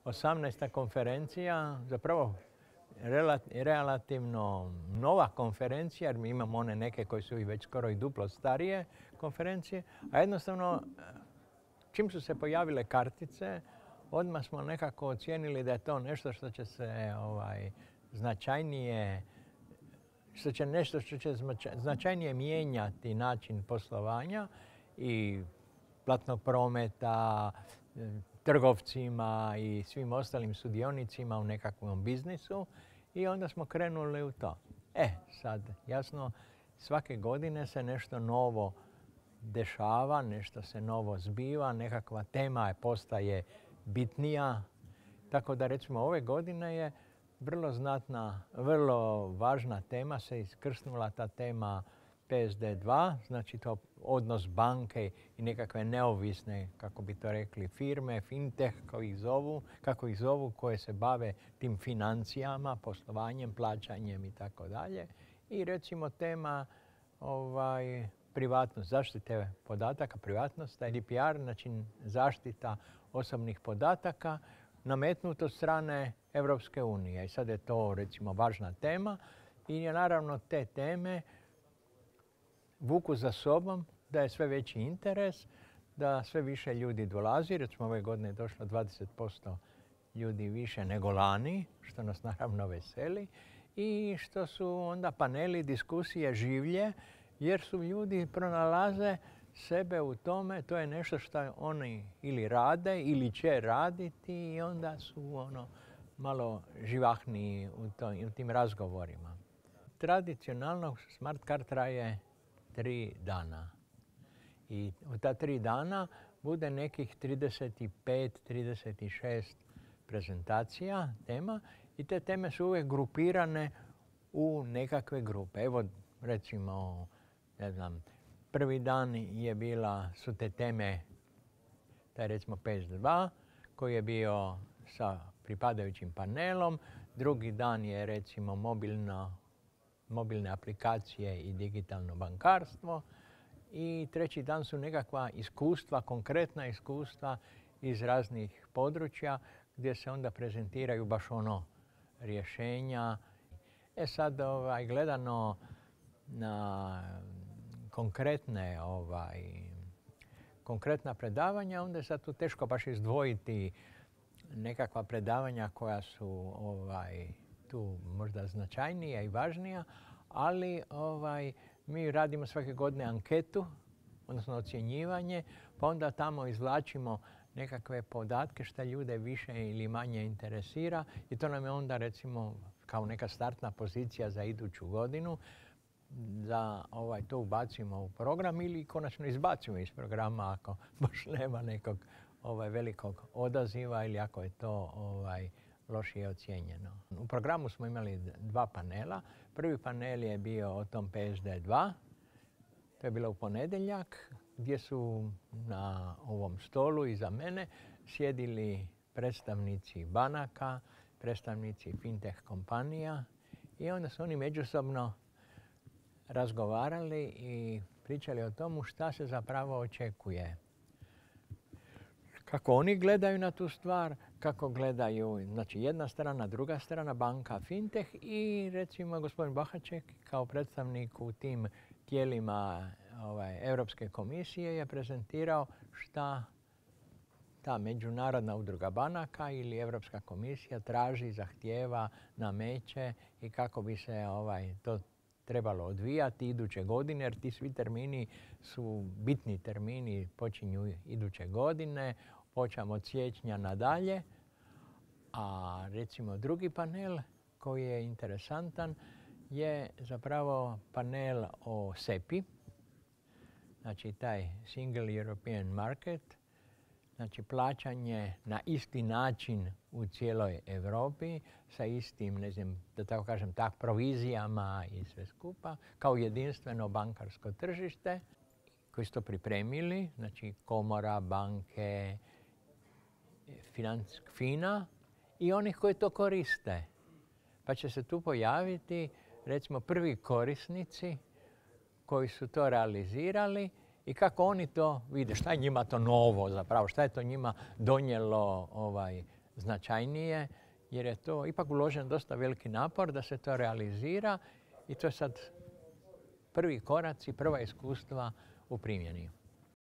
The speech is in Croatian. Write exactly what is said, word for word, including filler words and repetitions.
osamnaesta konferencija, zapravo relativno nova konferencija, jer mi imamo one neke koje su i već skoro i duplo starije konferencije, a jednostavno čim su se pojavile kartice, odmah smo nekako ocijenili da je to nešto što će se ovaj, značajnije, što će nešto što će značajnije mijenjati način poslovanja i platnog prometa, trgovcima i svim ostalim sudionicima u nekakvom biznisu i onda smo krenuli u to. E, sad, jasno, svake godine se nešto novo dešava, nešto se novo zbiva, nekakva tema postaje bitnija. Tako da, recimo, ove godine je vrlo znatna, vrlo važna tema se iskrsnula ta tema P S D dva, znači to odnos banke i nekakve neovisne, kako bi to rekli, firme, fintech, kako ih zovu, kako ih zovu, koje se bave tim financijama, poslovanjem, plaćanjem i tako dalje. I recimo tema ovaj, privatnost, zaštite podataka, privatnost, G D P R, znači zaštita osobnih podataka, nametnuto od strane Europske unije. I sad je to, recimo, važna tema i naravno te teme vuku za sobom da je sve veći interes, da sve više ljudi dolazi. Recimo, ove godine je došlo dvadeset posto ljudi više nego lani, što nas naravno veseli. I što su onda paneli, diskusije življe, jer su ljudi pronalaze sebe u tome, to je nešto što oni ili rade ili će raditi i onda su ono malo živahniji u, to, u tim razgovorima. Tradicionalno Smart Card traje tri dana. I u ta tri dana bude nekih trideset pet trideset šest prezentacija, tema i te teme su uvijek grupirane u nekakve grupe. Evo, recimo, ne znam, prvi dan je bila, su te teme, taj recimo P S D dva, koji je bio sa pripadajućim panelom. Drugi dan je recimo mobilno, mobilne aplikacije i digitalno bankarstvo. I treći dan su nekakva iskustva, konkretna iskustva iz raznih područja gdje se onda prezentiraju baš ono rješenja. E sad, ovaj, gledano na konkretne, ovaj, konkretna predavanja, onda je sad tu teško baš izdvojiti nekakva predavanja koja su ovaj, tu možda značajnija i važnija, ali ovaj, mi radimo svake godine anketu, odnosno ocjenjivanje, pa onda tamo izvlačimo nekakve podatke što ljude više ili manje interesira i to nam je onda recimo kao neka startna pozicija za iduću godinu da ovaj, to ubacimo u program ili konačno izbacimo iz programa ako baš nema nekog ovaj, velikog odaziva ili ako je to ovaj, lošije ocijenjeno. U programu smo imali dva panela. Prvi panel je bio o tom P S D dva. To je bilo u ponedjeljak gdje su na ovom stolu iza mene sjedili predstavnici banaka, predstavnici fintech kompanija i onda su oni međusobno razgovarali i pričali o tomu šta se zapravo očekuje. Kako oni gledaju na tu stvar, kako gledaju, znači jedna strana, druga strana, banka, fintech i recimo gospodin Bahaček kao predstavnik u tim tijelima ovaj, Europske komisije je prezentirao šta ta međunarodna udruga banaka ili Europska komisija traži, zahtijeva, nameće i kako bi se ovaj, to trebalo odvijati iduće godine, jer ti svi termini su bitni termini, počinju iduće godine, počam od siječnja nadalje. A recimo drugi panel koji je interesantan je zapravo panel o S E P I, znači taj Single European Market, znači plaćanje na isti način u cijeloj Europi sa istim, ne znam, da tako kažem, tak provizijama i sve skupa, kao jedinstveno bankarsko tržište koji su to pripremili, znači komora, banke, financijsk FINA i onih koji to koriste. Pa će se tu pojaviti, recimo, prvi korisnici koji su to realizirali i kako oni to vide, šta je njima to novo zapravo, šta je to njima donijelo ovaj, značajnije, jer je to ipak uložen dosta veliki napor da se to realizira i to je sad prvi koraci, prva iskustva u primjeni.